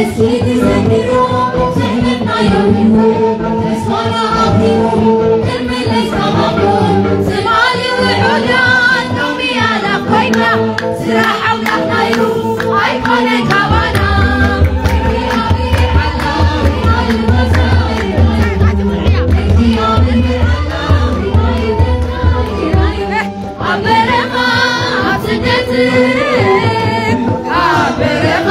እስኪ ትዘክሮ ስሕነትና የውዩ ተስፋና ኣኺሙ ክንምለስ ተባብሮ ስማሊ ውሑዳት ሎሚ ኣላፍ ኮይና ስራሕ ኣምላኽና እዩ ኣይኮነን ካባና። ኣብ በረኻ ኣብ ስደት ኣብ በረኻ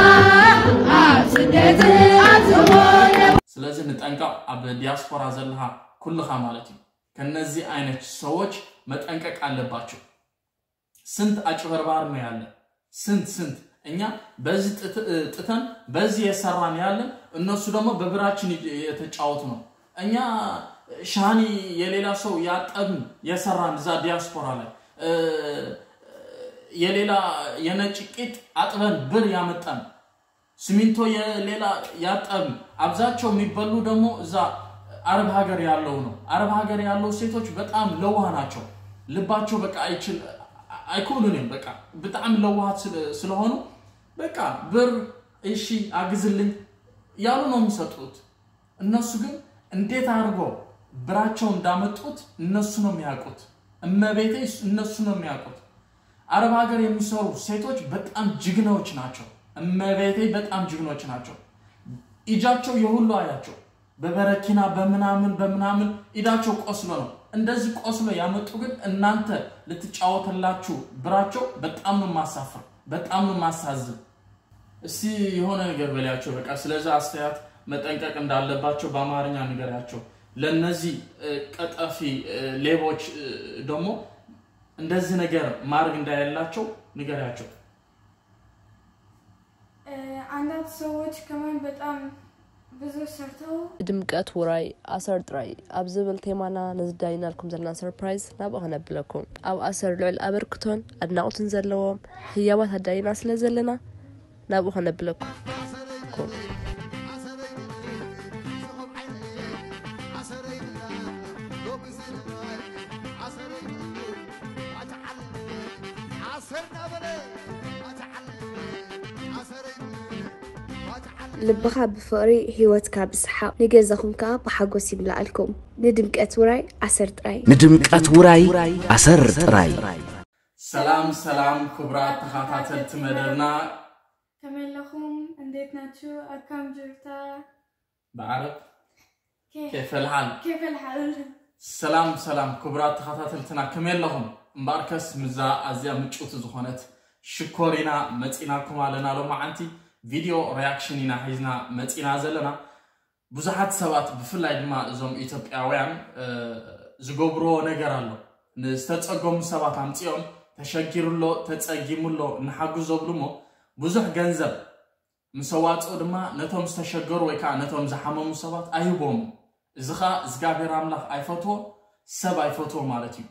ኣብ ስደት ኣብ ዝኾነ ስለዚ ንጠንቀቕ፣ ኣብ ዲያስፖራ ዘለኻ ኩልኻ ማለት እዩ። ከነዚህ አይነት ሰዎች መጠንቀቅ አለባቸው። ስንት አጭበርባሪ ነው ያለ፣ ስንት ስንት እኛ በዚህ ጥት- ጥተን በዚህ የሰራን ያለን፣ እነሱ ደግሞ በብራችን እየ- የተጫወቱ ነው። እኛ ሻኒ የሌላ ሰው ያጠብን የሰራን እዛ ዲያስፖራ ላይ እ፣ የሌላ የነጭ ቂጥ አጥበን ብር ያመጣን ሲሚንቶ የሌላ ያጠብን። አብዛቸው የሚበሉ ደግሞ እዛ አረብ ሀገር ያለው ነው። አረብ ሀገር ያለው ሴቶች በጣም ለዋህ ናቸው። ልባቸው በቃ አይችል አይኮኑንም። በቃ በጣም ለዋሃት ስለ- ስለሆኑ በቃ ብር እሺ አግዝልኝ ያሉ ነው የሚሰጡት። እነሱ ግን እንዴት አድርጎ ብራቸው እንዳመጡት እነሱ ነው የሚያውቁት። እመቤቴ እነሱ ነው የሚያውቁት። አረብ ሀገር የሚሰሩ ሴቶች በጣም ጅግናዎች ናቸው። እመቤቴ በጣም ጅግኖች ናቸው። ኢጃቸው የሁሉ አያቸው በበረኪና በምናምን በምናምን ኢዳቸው ቆስሎ ነው። እንደዚህ ቆስሎ ያመጡ ግን እናንተ ልትጫወትላችሁ ብራቸው በጣም ነው ማሳፍር፣ በጣም ነው ማሳዝን። እስቲ የሆነ ነገር በላያቸው። በቃ ስለዛ አስተያየት መጠንቀቅ እንዳለባቸው በአማርኛ ንገሪያቸው። ለነዚህ እ፣ ቀጠፊ እ፣ ሌቦች እ፣ ደግሞ እንደዚህ ነገር ማድረግ እንዳያላቸው ንገሪያቸው። አንዳንድ ሰዎች ከማን በጣም ብዙ ሰርተው ድምቀት ውራይ ኣሰር ጥራይ ኣብ ዝብል ቴማና ነዚ ዳይናልኩም ዘለና ሰርፕራይዝ ናብኡ ከነብለኩም። ኣብ ኣሰር ልዑል ኣበርክቶን ኣድናቖትን ዘለዎም ህያባት ኣዳይና ስለ ዘለና ናብኡ ከነብለኩም። ልብኻ ብፍቕሪ ህይወትካ ብሰሓቕ ንገዛኹም ከኣ ብሓጎስ ይምልኣልኩም። ንድምቀት ውራይ ኣሰር ጥራይ። ንድምቀት ውራይ ኣሰር ጥራይ። ሰላም ሰላም ክቡራት ተኸታተልቲ መደብና ከመይ ኣለኹም? እንዴት ናችሁ? ኣካም ጅርታ ብዓረብ ኬፍ ኬፈልሓል ኬፍ ኣልሓል ሰላም ሰላም ክቡራት ተኸታተልትና ከመይ ኣለኹም? እምበኣርከስ ምዛ ኣዝያ ምጭውቲ ዝኾነት ሽኮሪና መፂናኩም ኣለና። ሎማዓንቲ ቪድዮ ሪያክሽን ኢና ሒዝና መፂና ዘለና። ብዙሓት ሰባት ብፍላይ ድማ እዞም ኢትዮጵያውያን እ፣ ዝገብርዎ ነገር ኣሎ። ንዝተፀገሙ ሰባት ኣምፂኦም ተሸጊሩ ኣሎ ተፀጊሙ ኣሎ ንሓግዞ ብሉ እሞ ብዙሕ ገንዘብ ምስ ኣዋፅኡ ድማ ነቶም ዝተሸገሩ ወይ ከዓ ነቶም ዝሓመሙ ሰባት ኣይህቦም። እዚ ከዓ እግዚኣብሔር ኣምላኽ ኣይፈትዎ፣ ሰብ ኣይፈትዎ ማለት እዩ።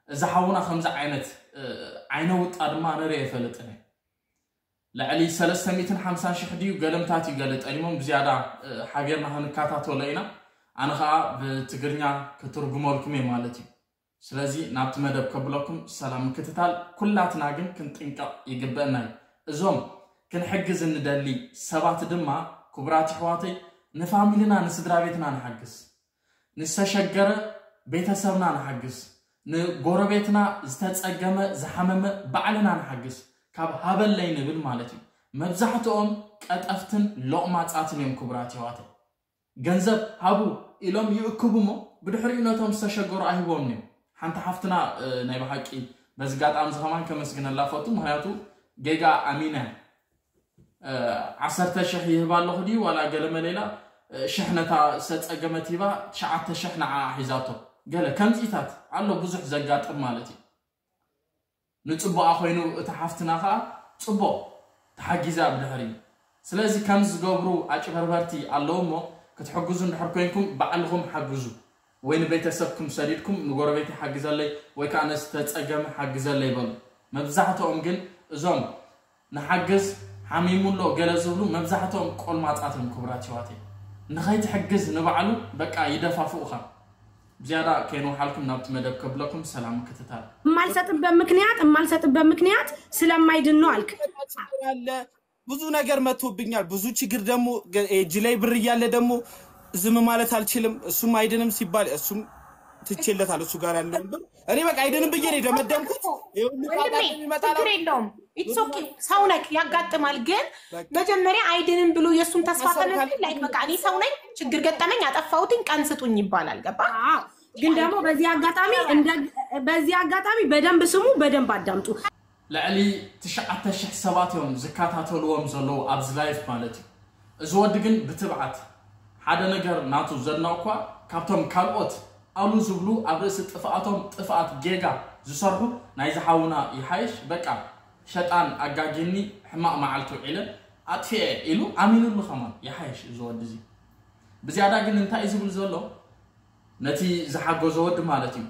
እዚ ሓውና ከምዚ ዓይነት እ፣ ዓይነ ውጣ ድማ ንርኢ ኣይፈልጥን እየ። ልዕሊ ሰለስተ ሚእትን ሓምሳን ሽሕ ድዩ ገለምታት እዩ ገለ ጠሊሞም ብዝያዳ እ፣ ሓቢርና ክንከታተሎ ኢና። ኣነ ከዓ ብትግርኛ ክትርጉመልኩም እየ ማለት እዩ። ስለዚ ናብቲ መደብ ከብለኩም ሰላም ምክትታል ኩላትና ግን ክንጥንቀቕ ይግበአና እዩ። እዞም ክንሕግዝ እንደሊ ሰባት ድማ ክቡራት ኣሕዋተይ ንፋሚልና ንስድራ ቤትና ንሓግዝ። ንዝተሸገረ ቤተሰብና ንሓግዝ። ንጎረቤትና ዝተጸገመ ዝሓመመ ባዕልና ንሓግዝ። ካብ ሃበለይ ንብል ማለት እዩ። መብዛሕትኦም ቀጠፍትን ሎቕማጻትን እዮም ክቡራት ኣሕዋተይ። ገንዘብ ሃቡ ኢሎም ይእክቡ እሞ ብድሕሪኡ ነቶም ዝተሸገሩ ኣይህቦምን እዮም። ሓንቲ ሓፍትና እ፣ ናይ ብሓቂ በዚ ኣጋጣሚ እዚ ከማን ከመስግነላ ፈቱ። ምክንያቱ ጌጋ ኣሚና እያ። እ፣ ዓሰርተ ሽሕ ይህባ ኣለኹ ድዩ ዋላ ገለ መሌላ እ፣ ሽሕ ነታ ዝተፀገመት ሂባ ትሽዓተ ሽሕ ንዓ ሒዛቶ። ገለ ከምዚታት ኣሎ ብዙሕ ዘጋጥም ማለት እዩ። ንፅቡቓ ኮይኑ እቲ ሓፍትና ከዓ ፅቡቕ ተሓጊዛ ብድሕሪ። ስለዚ ከምዚ ዝገብሩ ኣጭበርበርቲ ኣለዉ እሞ ክትሕግዙ እንድሕር ኮይንኩም ባዕልኹም ሓግዙ። ወይ ንቤተሰብኩም ሰዲድኩም ንጎረቤት ሓግዘለይ ወይ ከዓ ነዚ ተፀገመ ሓግዘለይ በሉ። መብዛሕትኦም ግን እዞም ንሓግዝ ሓሚሙ ኣሎ ገለ ዝብሉ መብዛሕትኦም ቆልማፃት እዮም ክቡራት ኣሕዋተይ። ንኸይትሕግዝ ንባዕሉ በቃ ይደፋፍኡኻ። ብዝያዳ ከይንውሓልኩም ናብቲ መደብ ከብለኩም ሰላም ምክትታል። የማልሰጥበት ምክንያት የማልሰጥበት ምክንያት ስለማይድን ነው አልክ። አለ ብዙ ነገር መጥቶብኛል። ብዙ ችግር ደግሞ ገ- እጅ ላይ ብር እያለ ደግሞ ዝም ማለት አልችልም። እሱም አይድንም ሲባል እሱም ትቼለታል። እሱ ጋር ያለውን ብር እኔ በቃ አይድንም ብዬ ነው የደመደምኩት። ይሄ ሁሉ ጣጣ ወንድሜ የሚመጣ ችግር የለውም። ኢትስ ኦኬ። ሰው ነክ ያጋጥማል። ግን መጀመሪያ አይድንም ብሎ የእሱን ተስፋ ከመ like በቃ እኔ ሰው ነኝ፣ ችግር ገጠመኝ፣ አጠፋሁትኝ፣ ቀን ስጡኝ ይባላል። ገባ? አዎ። ግን ደግሞ በዚህ አጋጣሚ እንደ በዚህ አጋጣሚ በደንብ ስሙ፣ በደንብ አዳምጡ። ልዕሊ ትሽዓተ ሽሕ ሰባት እዮም ዝከታተልዎም ዘለዉ ኣብዚ live ማለት እዩ። እዚ ወዲ ግን ብትብዓት ሓደ ነገር ናቱ ዘድነቕኳ፣ ካብቶም ካልኦት ኣሉ ዝብሉ ኣብ ርእሲ ጥፍኣቶም ጥፍኣት ጌጋ ዝሰርሑ ናይዚ ሓውና ይሓይሽ። በቃ ሸጣን ኣጋጊኒ ሕማቕ መዓልቲ ውዒለ ኣጥፊኤ ኢሉ ኣሚኑሉ ከማን ይሓይሽ እዚ ወዲ እዚ። ብዝያዳ ግን እንታይ እዩ ዝብል ዘሎ ነቲ ዝሓገዞ ወዲ ማለት እዩ።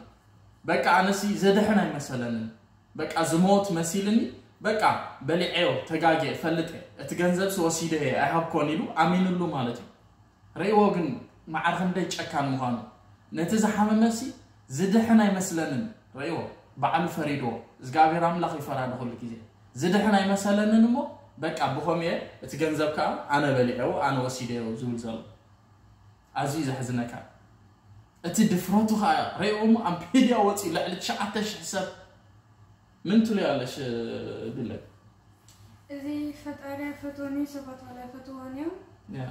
በቃ ኣነሲ ዘድሕን ኣይመሰለንን። በቃ ዝሞት መሲልኒ። በቃ በሊዐዮ ተጋጌ ፈልጠ እቲ ገንዘብሲ ወሲደየ ኣይሃብኮን ኢሉ ኣሚኑሉ ማለት እዩ። ርእይዎ ግን መዓር ክንደይ ጨካን ምዃኑ። ነቲ ዝሓመመሲ ዝድሕን ኣይመስለንን። ርእይዎ ባዕሉ ፈሪድዎ። እግዚኣብሔር ኣምላኽ ይፈራድ ኩሉ ግዜ። ዝድሕን ኣይመሰለንን እሞ በቃ ብኸምኡ እየ እቲ ገንዘብ ከዓ ኣነ በሊዐዎ ኣነ ወሲደዮ ዝብል ዘሎ። ኣዝዩ ዘሕዝነካ እቲ ድፍረቱ ከዓ ርእይዎ እሞ ኣብ ሚድያ ወፂኡ ልዕሊ ትሽዓተ ሽሕ ሰብ ምን ትሉ ያለሽ ድለ እዚ ፈጣሪ ኣይፈትዎን እዩ፣ ሰባት ዋላ ኣይፈትዎን እዮም። ያ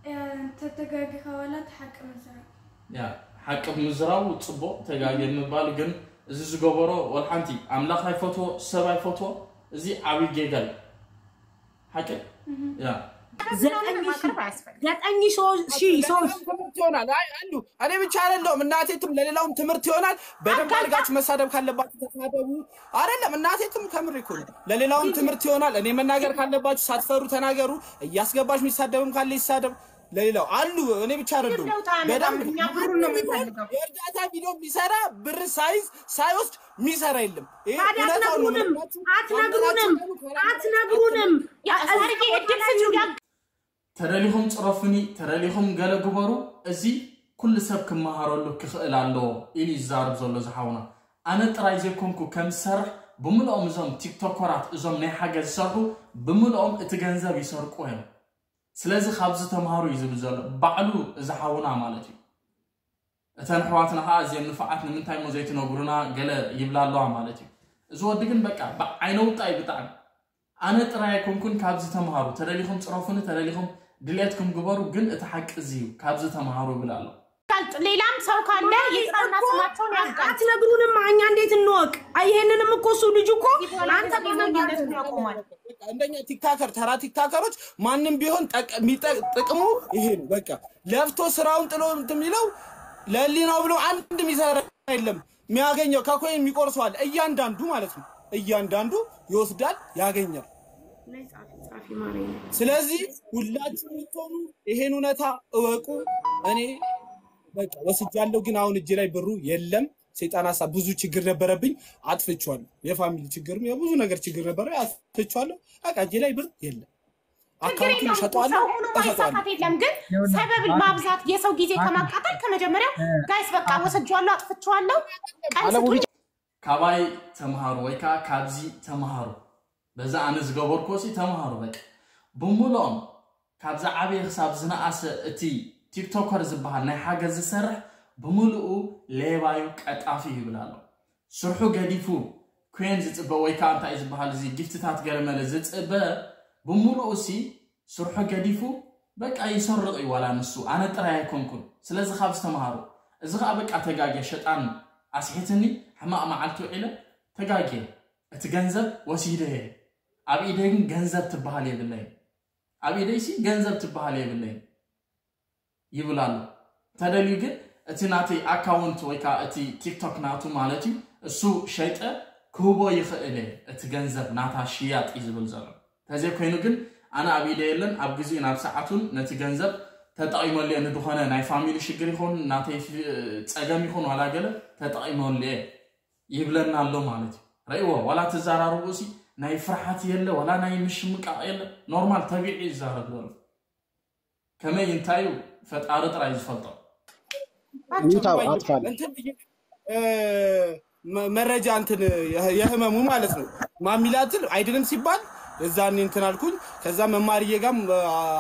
ያ፣ እንተተጋጊኻ ዋላ እቲ ሓቂ ምዝራብ። ያ ሓቂ ምዝራቡ ፅቡቅ ተጋጌ ምባል ግን እዚ ዝገበሮ ወልሓንቲ ኣምላኽ ኣይፈትዎ ሰብ ኣይፈትዎ። እዚ ዓብይ ጌጋ እዩ። ሓቂ ያ ዘጠኝ ሺህ ዘጠኝ ሺህ ሰዎች ትምህርት ይሆናል። አይ አሉ እኔ ብቻ አይደለሁም እናቴ ትም ለሌላውም ትምህርት ይሆናል። በደንብ አድርጋችሁ መሳደብ ካለባችሁ ተሳደቡ። አይደለም እናቴ ትም ከምር እኮ ነው። ለሌላውም ትምህርት ይሆናል። እኔ መናገር ካለባችሁ ሳትፈሩ ተናገሩ። እያስገባሽ የሚሳደብም ካለ ይሳደብ። ለሌላው አሉ እኔ ብቻ አይደለሁም። ለውጥ አያመጣም። በደንብ እኛ ብሩን ነው የምንፈልገው። የእርዳታ ቪዲዮ የሚሰራ ብር ሳይዝ ሳይወስድ የሚሰራ የለም። ይሄ ታዲያ እውነታውን ነው አትነግሩንም? የምነግራችሁ። አትነግሩንም? አትነግሩንም? ያ ሳርዬ እድል ስጪው። ያ ተደሊኹም ፅረፉኒ፣ ተደሊኹም ገለ ግበሩ። እዚ ኩሉ ሰብ ክመሃረሉ ክኽእል ኣለዎ ኢሉ ይዛረብ ዘሎ ዝሓውና። ኣነ ጥራይ ዘይኮንኩ ከም ዝሰርሕ ብምልኦም እዞም ቲክቶከራት እዞም ናይ ሓገዝ ዝሰርሑ ብምልኦም እቲ ገንዘብ ይሰርቁ እዮም። ስለዚ ካብዚ ተምሃሩ እዩ ዝብል ዘሎ ባዕሉ እዚ ሓውና ማለት እዩ። እተን ኣሕዋትና ከዓ እዚአን ንፉዓት ንምንታይ እሞ ዘይትነግሩና ገለ ይብላ ኣለዋ ማለት እዩ። እዚ ወዲ ግን በቃ ብዓይነ ውጣ እዩ ብጣዕሚ። ኣነ ጥራይ ኣይኮንኩን ካብዚ ተምሃሩ። ተደሊኹም ፅረፉኒ፣ ተደሊኹም ድሌትኩም ግበሩ፣ ግን እቲ ሓቂ እዚ እዩ። ካብዚ ተምሃሩ ይብል ኣሎ። ሌላም ሰው ካለ ይጥራና ስማቸውን ያስቀምጥ። አትነግሩንም? እኛ እንዴት እንወቅ? አይ ይሄንንም እኮ እሱ ልጅ እኮ ከዚህ በኋላ አንተ ተገናኝነቱን ያቆማል። በቃ እንደኛ ቲክታከር ተራ ቲክታከሮች ማንም ቢሆን ጠቅ- የሚጠቅ- ጥቅሙ ይሄ ነው። በቃ ለፍቶ ስራውን ጥሎ እንትን የሚለው ለህሊናው ብሎ አንድ የሚሰራ የለም። የሚያገኘው ከኮይን የሚቆርሰዋል እያንዳንዱ ማለት ነው። እያንዳንዱ ይወስዳል ያገኛል። ላይ ጻፊ ጻፊ ማረኝ። ስለዚህ ሁላችሁ የምትሆኑ ይሄን እውነታ እወቁ። እኔ በቃ ወስጃለሁ፣ ግን አሁን እጄ ላይ ብሩ የለም። ሰይጣን ሀሳብ ብዙ ችግር ነበረብኝ፣ አጥፍቼዋለሁ። የፋሚሊ ችግርም የብዙ ነገር ችግር ነበረ፣ አጥፍቼዋለሁ። በቃ እጄ ላይ ብር የለም። ችግር አካውንቱን የለውም። እሸጠዋለሁ፣ ሰው ሆኖ እሸጠዋለሁ። ማይሳሳት የለም። ግን ሰበብ ማብዛት የሰው ጊዜ ከማቃጠል ከመጀመሪያው ጋይስ በቃ ወስጄዋለሁ፣ አጥፍቼዋለሁ፣ ቀን ስጡኝ። ካባይ ተምሃሩ ወይ ከዓ ካብዚ ተምሃሩ። በዛ ኣነ ዝገበርኩዎ ሲ ተምሃሩ በቃ። ብምልኦም ካብዚ ዓብየ ክሳብ ዝነኣሰ እቲ ቲክቶከር ዝበሃል ናይ ሓገዝ ዝሰርሕ ብምልኡ ሌባዩ ቀጣፊ ይብል ኣሎ። ስርሑ ገዲፉ ኮይን ዝፅበ ወይ ከዓ እንታይ ዝበሃል እዚ ጊፍትታት ገለመለ ዝፅበ ብምልኡ ሲ ስርሑ ገዲፉ በቃ ይሰርቕ እዩ ዋላ ንሱ። ኣነ ጥራይ ኣይኮንኩን። ስለዚ ካብ ዝተምሃሩ። እዚ ከዓ በቃ ተጋግየ ሸጣን ኣስሒትኒ ሕማቕ መዓልቲ ውዒለ ተጋግየ እቲ ገንዘብ ወሲደየ። ኣብ ኢደይ ግን ገንዘብ ትበሃል የብለይን። ኣብ ኢደይሲ ገንዘብ ትበሃል የብለይን ይብል ኣሎ። ተደልዩ ግን እቲ ናተይ ኣካውንት ወይ ከዓ እቲ ቲክቶክ ናቱ ማለት እዩ እሱ ሸይጠ ክህቦ ይኽእል እየ እቲ ገንዘብ ናታ ሽያጥ እዩ ዝብል ዘሎ። ተዘይኮይኑ ግን ኣነ ኣብ ኢደ የለን ኣብ ግዚኡ ናብ ሰዓቱን ነቲ ገንዘብ ተጠቒመሉ እየ ንድኾነ ናይ ፋሚሊ ሽግር ይኹን ናተይ ፊ- ፀገም ይኹን ዋላ ገለ ተጠቒመሉ እየ ይብለና ኣሎ ማለት እዩ። ረእይዎ ዋላ ትዛራርቡ ሲ ናይ ፍርሓት የለ ዋላ ናይ ምሽምቃቕ የለ ኖርማል ተቢዑ ይዛረብ ዘሎ። ከመይ እንታይ እዩ ፈጣሪ ጥራይ ዝፈልጦ። ሚውታው አጥፋል። እንትን ብዬ፣ እ፣ መ- መረጃ እንትን የ- የህመሙ ማለት ነው። ማሚላትን አይድንም ሲባል እዛኔ እንትን አልኩኝ። ከዛ መማርዬ ጋም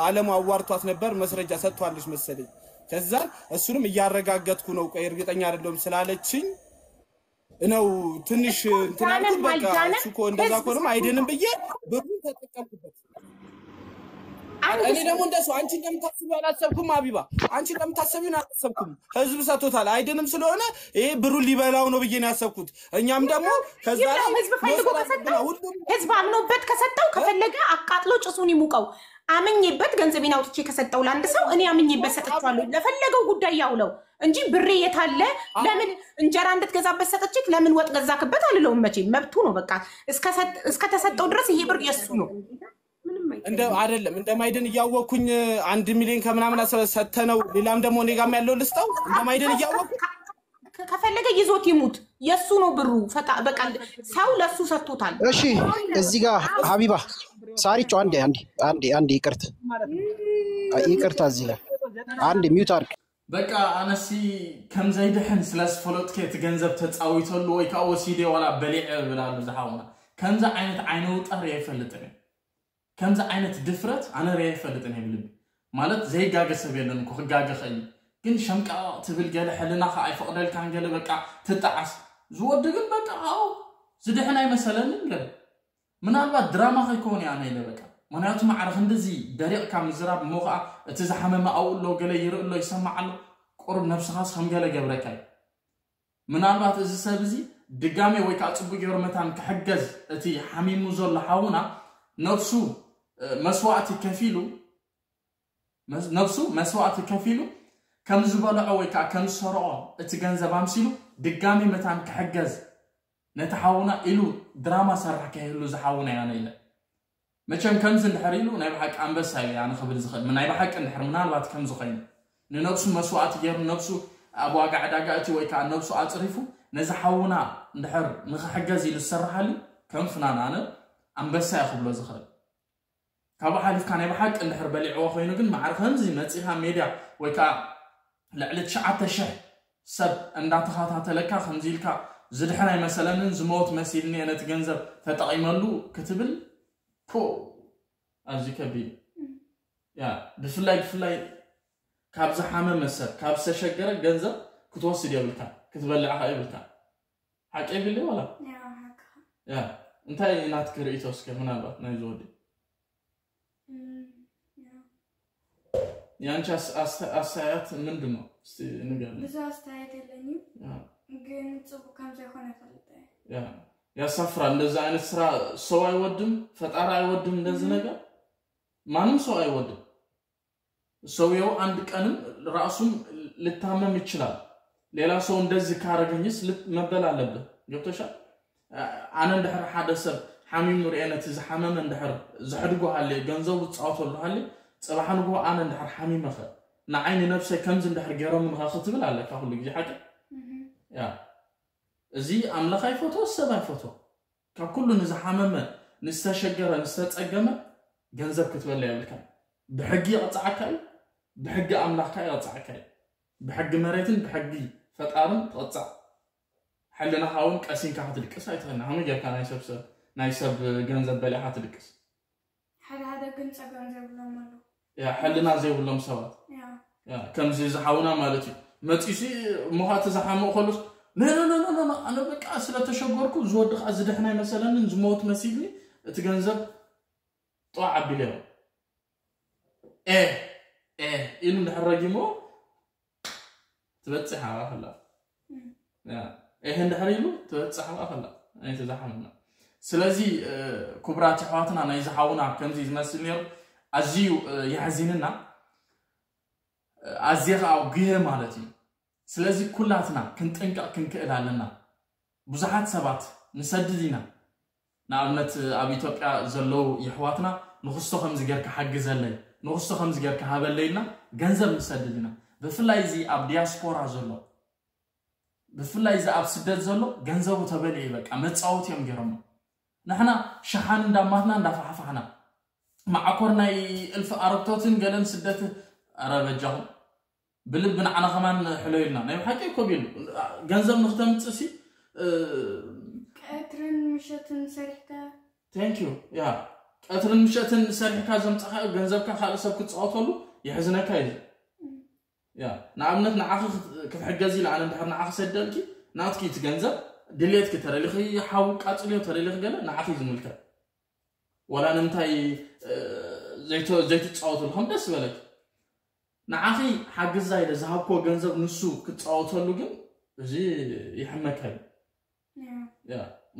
አለሙ አዋርቷት ነበር፣ መስረጃ ሰጥቷለች መሰለኝ። ከዛ እሱንም እያረጋገጥኩ ነው፣ ቆይ እርግጠኛ አይደለሁም ስላለችኝ ነው ትንሽ እንትን አልኩት። በቃ እሱ እኮ እንደዛ ከሆነም አይድንም ብዬ ብሩን ተጠቀምኩበት። እኔ ደግሞ እንደሱ አንቺ እንደምታስቢው አላሰብኩም። አቢባ፣ አንቺ እንደምታስቢው አላሰብኩም። ህዝብ ሰጥቶታል፣ አይድንም ስለሆነ ይሄ ብሩን ሊበላው ነው ብዬ ነው ያሰብኩት። እኛም ደግሞ ከዛ ላይ ህዝብ ፈልጎ ከሰጠው፣ ህዝብ አምኖበት ከሰጠው፣ ከፈለገ አቃጥሎ ጭሱን ይሙቀው። አምኜበት ገንዘቤን አውጥቼ ከሰጠው ለአንድ ሰው፣ እኔ አምኜበት ሰጥቼዋለሁ፣ ለፈለገው ጉዳይ ያውለው እንጂ ብሬ የታለ? ለምን እንጀራ እንድትገዛበት ሰጥቼክ ለምን ወጥ ገዛክበት አልለውም። መቼም መብቱ ነው። በቃ እስከተሰጠው ድረስ ይሄ ብር የሱ ነው። እንደ አይደለም እንደማይድን እያወቅኩኝ አንድ ሚሊዮን ከምናምን ሰተነው፣ ሌላም ደግሞ እኔ ጋም ያለው ልስጠው እንደማይድን እያወቅኩ ከፈለገ ይዞት ይሙት፣ የሱ ነው ብሩ። በቃ ሰው ለሱ ሰጥቶታል። እሺ፣ እዚህ ጋር ሀቢባ ሳሪቸው አንዴ አንዴ አንዴ አንዴ ይቅርት ይቅርታ፣ እዚህ ላይ አንድ ሚውት አድርግ። በቃ ኣነሲ ከም ዘይድሕን ስለ ዝፈለጥኩ እቲ ገንዘብ ተፃዊተሉ ወይ ከዓ ወሲደ ዋላ በሊዐ እብል ኣሎ ዝሓውና። ከምዚ ዓይነት ዓይነ ውጣር ኣይፈልጥን እየ። ከምዚ ዓይነት ድፍረት ኣነ ርያ ኣይፈልጥን እየ ብልቢ። ማለት ዘይጋገ ሰብ የለን እኮ፣ ክጋገ ኸእል። ግን ሸምቃቕ ትብል ገለ ሕልናኻ ኣይፈቕደልካን ገለ በቃ ትጠዓስ። ዝወዲ ግን በቃ ኣው ዝድሕን ኣይመሰለንን ገለ። ምናልባት ድራማ ከይከውን እያ ኣነ ኢለ በቃ። ምክንያቱ ማዕረ ክንድዚ ደሪቕካ ምዝራብ እሞ ከዓ እቲ ዝሓመመ ኣብኡ ኣሎ ገለ ይርኢ ኣሎ ይሰማዕ ኣሎ። ቁሩብ ነብስኻስ ከም ገለ ገብረካ እዩ። ምናልባት እዚ ሰብ እዚ ድጋሜ ወይ ከዓ ፅቡቅ ገይሩ መታን ክሕገዝ እቲ ሓሚሙ ዘሎ ሓውና ነብሱ መስዋእቲ ከፊሉ ነብሱ መስዋእቲ ከፊሉ ከም ዝበልዖ ወይ ከዓ ከም ዝሰርዖ እቲ ገንዘብ ኣምሲሉ ድጋሜ መታን ክሕገዝ ነቲ ሓውና ኢሉ ድራማ ሰርሕ ከይህሉ ዝሓውና ያነ ኢለ። መቸም ከምዚ እንድሕር ኢሉ ናይ ብሓቂ ኣንበሳ እዩ ኣነ ክብል ዝኽእል። ናይ ብሓቂ እንድሕር ምናልባት ከምዚ ኮይኑ ንነብሱ መስዋእቲ ገይሩ ነብሱ ኣብ ዋጋ ዕዳጋ እቲ ወይ ከዓ ነብሱ ኣፅሪፉ ነዚ ሓውና እንድሕር ንኽሕገዝ ኢሉ ዝሰርሓሉ ከም ፍናን ኣነ ኣንበሳ እየ ክብሎ ዝኽእል። ካብኡ ሓሊፍካ ናይ ብሓቂ እንድሕር በሊዕዎ ኮይኑ ግን ማዕረ ከምዚ መፂኻ ሜድያ ወይ ከዓ ልዕሊ ትሽዓተ ሽሕ ሰብ እንዳተኸታተለካ ከምዚ ኢልካ ዝድሕን ኣይመሰለንን ዝመወት መሲልኒ እየ ነቲ ገንዘብ ተጠቒመሉ ክትብል ፖ ኣዝዩ ከቢድ እዩ። ያ ብፍላይ ብፍላይ ካብ ዝሓመመ ሰብ ካብ ዝተሸገረ ገንዘብ ክትወስድ የብልካ ክትበልዕ ኸ የብልካ። ሓቂ ይብል ዋላ ያ እንታይ ናትክ ርእቶ እስከ ምናልባት ናይ ዝወዲ ያንቺ አስተያየት ምንድን ነው? እስቲ ንገር። ብዙ አስተያየት የለኝም፣ ግን ጽቡቅ ከም ዘይኮነ ፈልጠ ያሳፍራል። እንደዚህ አይነት ስራ ሰው አይወድም፣ ፈጣሪ አይወድም። እንደዚህ ነገር ማንም ሰው አይወድም። ሰውየው አንድ ቀንም ራሱም ልታመም ይችላል። ሌላ ሰው እንደዚህ ካረገኝስ መበል አለብህ። ገብቶሻል? ኣነ እንድሕር ሓደ ሰብ ሓሚሙ ርኤ ነቲ ዝሓመመ እንድሕር ዘሕድጎ ሃልየ ገንዘቡ ዝፃወተሉ ሃልየ ፅባሕ ንግሆ ኣነ እንድሕር ሓሚመኸ ንዓይ ንነብሰይ ከምዚ እንድሕር ገይሮምንኸ ክትብል ኣለካ ኩሉ ግዜ ሓቂ። ያ እዚ ኣምላኽ ኣይፈትዎ ሰብ ኣይፈትዎ። ካብ ኩሉ ንዝሓመመ ንዝተሸገረ ንዝተፀገመ ገንዘብ ክትበለ የብልካ። ብሕጊ ይቕፅዓካ እዩ። ብሕጊ ኣምላኽካ ይቕፅዓካ እዩ። ብሕጊ መሬትን ብሕጊ ፈጣርን ትቕፃዕ። ሕልናኻ እውን ቀሲንካ ክትድቅስ ኣይትኽእልን። ከመይ ጌርካ ናይ ሰብ ሰብ ናይ ሰብ ገንዘብ በሊዕካ ትድቅስ? ሓደ ሓደ ግን ፀገም ዘይብሎም ኣለዉ። ያ ሕልና ዘይብሎም ሰባት ያ ከምዚ ዝሓውና ማለት እዩ። መፂሲ እሞ ከዓ እቲ ዝሓምቕ ከሎስ ነነነነነ ኣነ በቃ ስለተሸገርኩ ዝወዲ ከዓ ዝድሕን ኣይመሰለንን ዝመወት መሲልኒ እቲ ገንዘብ ጠዋ ዓቢለዮ ኤ ኤ ኢሉ እንድሕር ረጊሞ ትበፅሕ ኣባኽላ ይህ እንድሕር ኢሉ ትበፅሕ ኣባኽላ ኣይተዛሓምና። ስለዚ ክቡራት ኣሕዋትና ናይ ዝሓውና ከምዚ ዝመስል ነይሩ ኣዝዩ የሕዚንና። ኣዝየ ከዓ ጉየ ማለት እዩ። ስለዚ ኩላትና ክንጥንቀቕ ክንክእል ኣለና። ብዙሓት ሰባት ንሰድድ ኢና። ንኣብነት ኣብ ኢትዮጵያ ዘለዉ የሕዋትና ንክስቶ ከምዚ ጌርካ ሓግዘለይ ንክስቶ ከምዚ ጌርካ ሃበለይ ኢልና ገንዘብ ንሰድድ ኢና። ብፍላይ እዚ ኣብ ዲያስፖራ ዘሎ ብፍላይ እዚ ኣብ ስደት ዘሎ ገንዘቡ ተበሊዑ በቃ መፃወቲ እዮም ገይሮሞ። ንሕና ሸሓን እንዳማትና እንዳፋሕፋሕና ማዕኮር ናይ እልፊ ኣረግቶትን ገለን ስደት ኣረ በጃኹም ብልቢ ንዓና ከማን ሕለዩልና ናይ ብሓቂ ኮብ ኢሉ ገንዘብ ንክተምፅእ ሲ ቀትርን ምሸትን ሰሪሕካ thank you ያ ቀትርን ምሸትን ሰሪሕካ ዘምጻኻዮ ገንዘብካ ካልእ ሰብ ክትጻወተሉ የሕዝነካ እዩ። ያ ንኣብነት ንዓኺ ክትሕገዝ ኢለ ኣነ እንድሕር ንዓኺ ሰደልኪ ናትኪ እቲ ገንዘብ ድሌትኪ ተደሊኺ ሓው ቃጽልዮ ተደሊኺ ገለ ንዓኺ ዝምልከት ወላ ንምንታይ ዘይትጻወተሉ ከም ደስ ዝበለኪ ንዓኺ ሓግዛ ኢለ ዝሃብክዎ ገንዘብ ንሱ ክትጻወተሉ ግን እዚ ይሕመካ እዩ።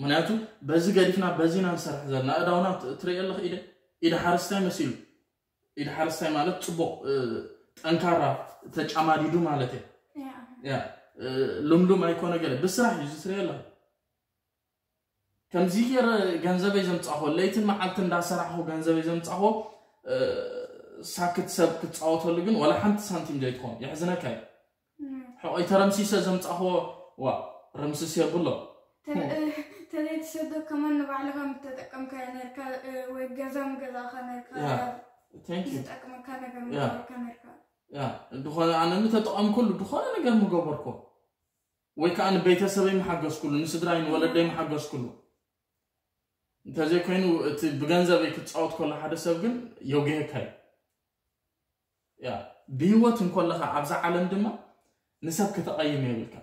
ምክንያቱ በዚ ገዲፍና በዚና ንሰርሕ ዘለና እዳውና ትሪኦ ኣለኽ ኢደ ኢደ ሓረስታይ መሲሉ ኢደ ሓረስታይ ማለት ፅቡቕ ጠንካራ ተጫማዲዱ ማለት እየ ልምሉም ኣይኮነ ገለ ብስራሕ እዩ ዝትሪኦ ኣለኽ ከምዚ ገይረ ገንዘበይ ዘምፃኹ ለይትን መዓልቲ እንዳሰራሕኹ ገንዘበይ ዘምፃኹ ሳክት ሰብ ክትፃወተሉ ግን ወላ ሓንቲ ሳንቲም ዘይትኾን የሕዝነካ እዩ ሕቆይ ተረምሲሰ ዘምፃኹዎ ዋ ረምስስ የብሎ ተዘይትሰዶ ከማን ንባዕልኻ ምተጠቀምካዮ ነርካ ወይ ገዛ ምገዛእኻ ነርካ ዝጠቅመካ ነገር ምገበርካ ነርካ ድኾነ ኣነ ምተጠቐምኩሉ ድኾነ ነገር ምገበርኮ ወይ ከዓ ንቤተሰበይ ምሓገዝኩሉ ንስድራይ ንወለደይ ምሓገዝኩሉ እንተዘይኮይኑ እቲ ብገንዘበይ ክትፃወት ከሎ ሓደ ሰብ ግን የጉሄካ እዩ ብህይወት እንኮለኻ ኣብዛ ዓለም ድማ ንሰብ ከተቐይም የብልካ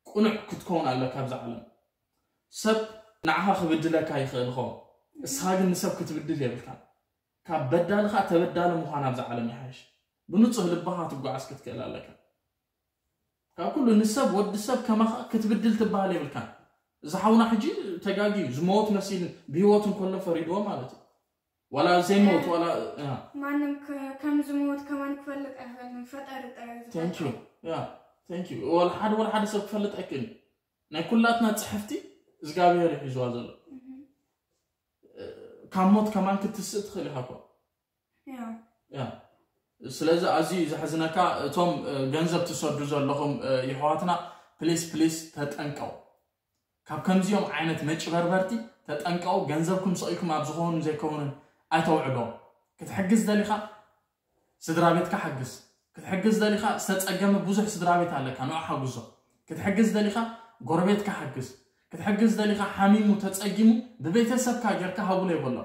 ቁኑዕ ክትከውን ኣለካ ኣብዛ ዓለም ሰብ ንዓኻ ክብድለካ ይኽእል ኸውን እስኻ ግን ንሰብ ክትብድል የብልካ ካብ በዳልኻ ተበዳሊ ምዃን ኣብዛ ዓለም ይሓይሽ ብንፁህ ልባኻ ትጓዓዝ ክትክእል ኣለካ ካብ ኩሉ ንሰብ ወዲ ሰብ ከማኻ ክትብድል ትበሃል የብልካን እዚ ሓውና ሕጂ ተጋጊዩ ዝመወት መሲልን ብህይወት እንከሎ ፈሪድዎ ማለት እዩ ዋላ ዘይመወት ዋላ ማንም ከም ዝመወት ከማን ክፈልጥ ኣይኽእልን ፈጣሪ ጥራይ thank you yeah thank you ወላ ሓደ ወላ ሓደ ሰብ ክፈልጥ ኣይክእልን ናይ ኩላትና ፅሕፍቲ እግዚኣብሔር ይሒዝዋ ዘሎ ካብ ሞት ከማን ክትስእ ትኽእል ኢኻ እኮ ስለዚ ኣዝዩ ዘሕዝነካ እቶም ገንዘብ ትሰዱ ዘለኹም ይሕዋትና ፕሊስ ፕሊስ ተጠንቀው ካብ ከምዚኦም ዓይነት መጭበርበርቲ ተጠንቀው ገንዘብኩም ሰቂልኩም ኣብ ዝኾኑን ዘይከውንን ኣይተውዕሎ ክትሕግዝ ደሊኻ ስድራ ቤትካ ሓግዝ ክትሕግዝ ደሊኻ ዝተፀገመ ብዙሕ ስድራ ቤት ኣለካ ንዑ ሓጉዞ ክትሕግዝ ደሊኻ ጎረቤትካ ሓግዝ ክትሕግዝ ደሊኻ ሓሚሙ ተፀጊሙ ብቤተሰብካ ጌርካ ሃቡሎ ይበሎ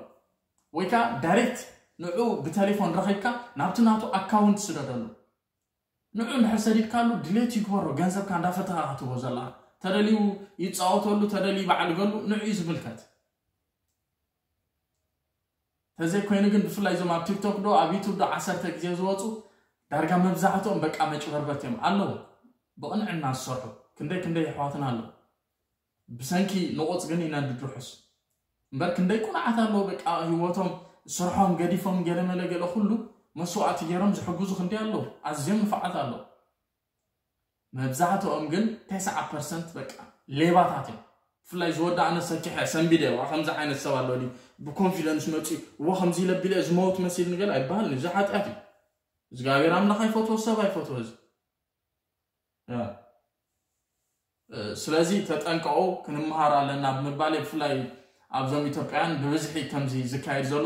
ወይ ከዓ ዳይሬክት ንዑ ብቴሌፎን ረኺብካ ናብቲ ናቱ ኣካውንት ስደደሉ ንዑ እንድሕር ሰዲድካሉ ድሌት ይግበሮ ገንዘብካ እንዳፈተኻ ክትቦ ዘለኻ ተደልዩ ይፃወተሉ ተደልዩ በዓል ገሉ ንዑ እዩ ዝምልከት ተዘይኮይኑ ግን ብፍላይ እዞም ኣብ ቲክቶክ ዶ ኣብ ዩቱብ ዶ ዓሰርተ ግዜ ዝወፁ ዳርጋ መብዛሕትኦም በቃ መጭበርበት እዮም ኣለዉ ብቕንዕና ዝሰርሑ ክንደይ ክንደይ ኣሕዋትና ኣለዉ ብሰንኪ ንቑፅ ግን ይነድድ ርሑስ እምበር ክንደይ ቁኑዓት ኣለዉ በቃ ህይወቶም ስርሖም ገዲፎም ገለመለ ገለ ኩሉ መስዋእቲ ገይሮም ዝሕግዙ ክንደይ ኣለዉ ኣዝዮም ንፋዓት ኣለዉ መብዛሕትኦም ግን ተስዓ ፐርሰንት በቃ ሌባታት እዮም ብፍላይ ዝወዳእነ ሰኪሐ ሰንቢደ ዋ ከምዚ ዓይነት ሰብ ኣሎ ድዩ ብኮንፊደንስ መፂኡ እዎ ከምዚ ኢለ ቢለ ዝመውት መሲል ንገል ኣይበሃል እዚ ሓጢኣት እዩ እግዚኣብሔር ኣምላኽ ኣይፈትዎ ሰብ ኣይፈትዎ እዚ ስለዚ ተጠንቀቑ ክንመሃር ኣለና ብምባል ብፍላይ ኣብዞም ኢትዮጵያን ብብዝሒ ከምዚ ዝካየድ ዘሎ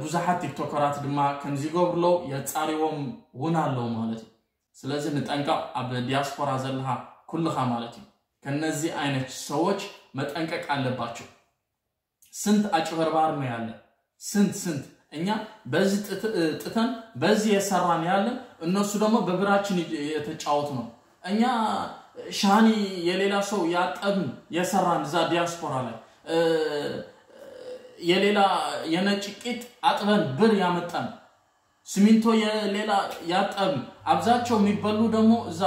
ብዙሓት ቲክቶከራት ድማ ከምዚ ይገብርለው የፃሪዎም እውን ኣለው ማለት እዩ ስለዚ ንጠንቀቕ ኣብ ዲያስፖራ ዘለኻ ኩልኻ ማለት እዩ ከነዚ አይነት ሰዎች መጠንቀቅ አለባቸው ስንት አጭበርባሪ ነው ያለ ስንት ስንት እኛ በዚህ ጥተን በዚህ የሰራን ያለን እነሱ ደግሞ በብራችን የተጫወቱ ነው እኛ ሻኒ የሌላ ሰው ያጠብን የሰራን እዛ ዲያስፖራ ላይ የሌላ የነጭ ቂጥ አጥበን ብር ያመጣን ሲሚንቶ የሌላ ያጠብን አብዛቸው የሚበሉ ደግሞ እዛ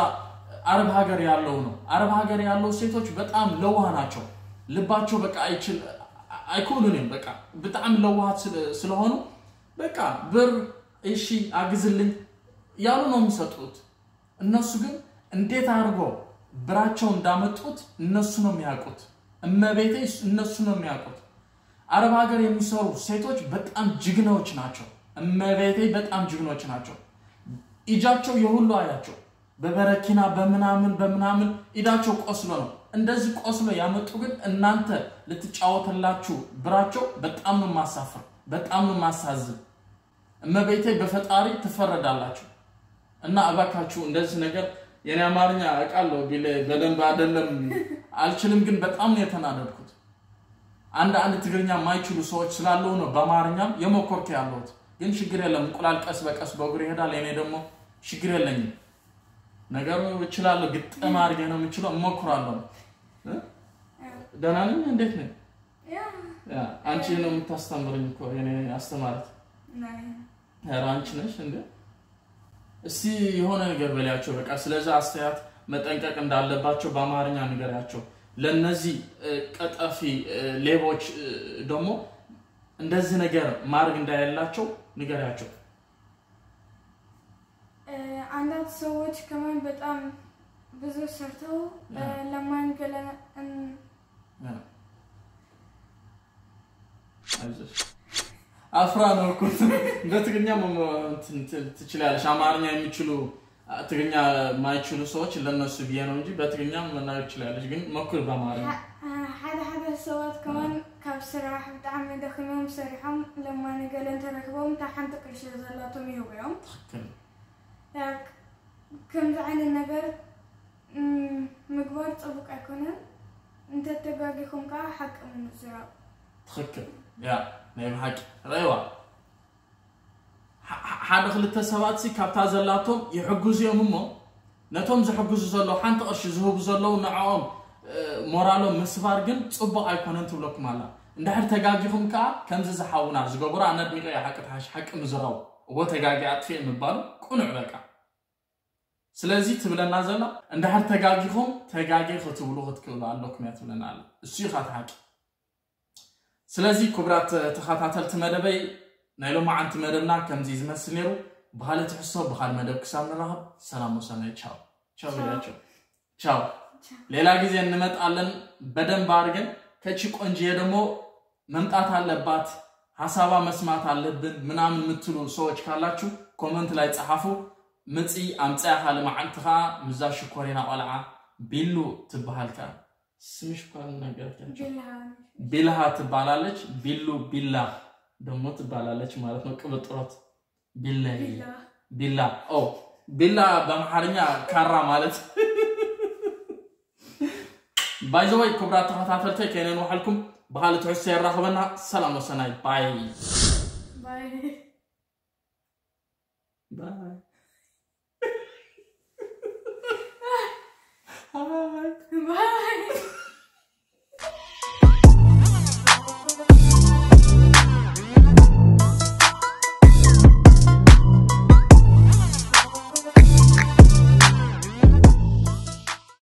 አረብ ሀገር ያለው ነው። አረብ ሀገር ያለው ሴቶች በጣም ለዋህ ናቸው። ልባቸው በቃ አይችል አይኮኑንም በቃ በጣም ለዋሃት ስለሆኑ በቃ ብር እሺ አግዝልኝ ያሉ ነው የሚሰጡት። እነሱ ግን እንዴት አድርጎ ብራቸው እንዳመጡት እነሱ ነው የሚያውቁት። እመቤቴ እነሱ ነው የሚያውቁት። አረብ ሀገር የሚሰሩ ሴቶች በጣም ጅግናዎች ናቸው። እመቤቴ በጣም ጅግኖች ናቸው። ኢጃቸው የሁሉ አያቸው በበረኪና በምናምን በምናምን ኢዳቸው ቆስሎ ነው። እንደዚህ ቆስሎ ያመጡ ግን እናንተ ልትጫወትላችሁ ብራቸው በጣም ነው ማሳፍር፣ በጣም ነው ማሳዝን። እመቤቴ በፈጣሪ ትፈረዳላችሁ። እና እባካችሁ እንደዚህ ነገር የኔ አማርኛ አውቃለሁ ቢለ በደንብ አይደለም አልችልም፣ ግን በጣም ነው የተናደድኩት። አንዳንድ ትግርኛ የማይችሉ ሰዎች ስላለው ነው በአማርኛም የሞከርኩ ያለሁት። ግን ችግር የለም፣ እንቁላል ቀስ በቀስ በእግሩ ይሄዳል። እኔ ደግሞ ችግር የለኝም፣ ነገሩ እችላለሁ፣ ግጥም አድርጌ ነው የምችለው፣ እሞክራለሁ። እ? ደህና ነኝ። እንዴት ነኝ? ያ፣ አንቺ ነው የምታስተምርኝ እኮ የኔ አስተማሪት። ኧረ አንቺ ነሽ እንዴ? እስቲ የሆነ ነገር በላቸው በቃ። ስለዚህ አስተያየት መጠንቀቅ እንዳለባቸው በአማርኛ ንገሪያቸው። ለነዚህ ቀጠፊ ሌቦች ደግሞ እንደዚህ ነገር ማድረግ እንዳያላቸው ንገሪያቸው። አንዳንድ ሰዎች ከማን በጣም ብዙ ሰርተው ለማን ገለ አፍራ ነው እኮ። በትግርኛ ትችላለች። አማርኛ የሚችሉ ትግርኛ የማይችሉ ሰዎች ለነሱ ብዬ ነው እንጂ በትግርኛ መናገር ትችላለች። ግን ሞክር በአማርኛ። ሓደ ሓደ ሰባት ከማን ካብ ስራሕ ብጣዕሚ ደኺሞም ሰሪሖም ለማኒ ገለ እንተረኪቦም እታ ሓንቲ ቅርሺ ዘላቶም ይህቡ እዮም። ትክክል። ከምዚ ዓይነት ነገር ምግባር ፅቡቅ ኣይኮነን። እንተተጋጊኹም ከዓ ሓቂ ምዝራብ። ትክክል። ያ ናይ ብሓቂ ረይዋ ሓደ ክልተ ሰባት ሲ ካብታ ዘላቶም ይሕግዙ እዮም እሞ ነቶም ዝሕግዙ ዘለዉ ሓንቲ ቅርሺ ዝህቡ ዘለዉ ንዕኦም ሞራሎም ምስባር ግን ፅቡቅ ኣይኮነን ትብለኩም ኣላ። እንድሕር ተጋጊኹም ከዓ ከምዚ ዝሓውና ዝገበሩ ኣነ ኣድኒቀ እየ። ሓቂ ተሓሽ ሓቂ ምዝራቡ እዎ ተጋጊ ኣጥፍእ ምባሉ ቁኑዕ በቃ። ስለዚ ትብለና ዘላ እንድሕር ተጋጊኹም ተጋጊ ክትብሉ ክትክእሉ ኣለኩም እያ ትብለና ኣላ። እሱ እዩ ካት ሓቂ። ስለዚ ክቡራት ተኸታተልቲ መደበይ ናይ ሎማዓንቲ መደብና ከምዚ ዝመስል ነይሩ። ብኻልእ ትሕዝቶ ብኻልእ መደብ ክሳብ ንራኸብ ሰላም ወሰናይ ቻው። ቻው ኢላቸው። ቻው። ሌላ ጊዜ እንመጣለን። በደንብ አድርገን ከቺ ቆንጅዬ ደግሞ መምጣት አለባት፣ ሀሳባ መስማት አለብን ምናምን የምትሉ ሰዎች ካላችሁ ኮመንት ላይ ጸሐፉ። ምጺ ኣምጻያ ካልእ መዓልቲ ኸዓ ምዛ ሽኮሪና ቆልዓ ቢሉ ትበሃል ከኣ ስምሽ እኳ ነገር ቢልሃ ቢልሃ ትባላለች። ቢሉ ቢላ ደግሞ ትባላለች ማለት ነው። ቅብጥሮት ቢላ ቢላ ኦ ቢላ በአምሓርኛ ካራ ማለት። ባይዘወይ ክቡራት ተኸታተልተይ ከይነንውሓልኩም ብኻልእ ትሕዝቶ የራኽበና። ሰላም ወሰናይ ባይ ባይ ባይ ባይ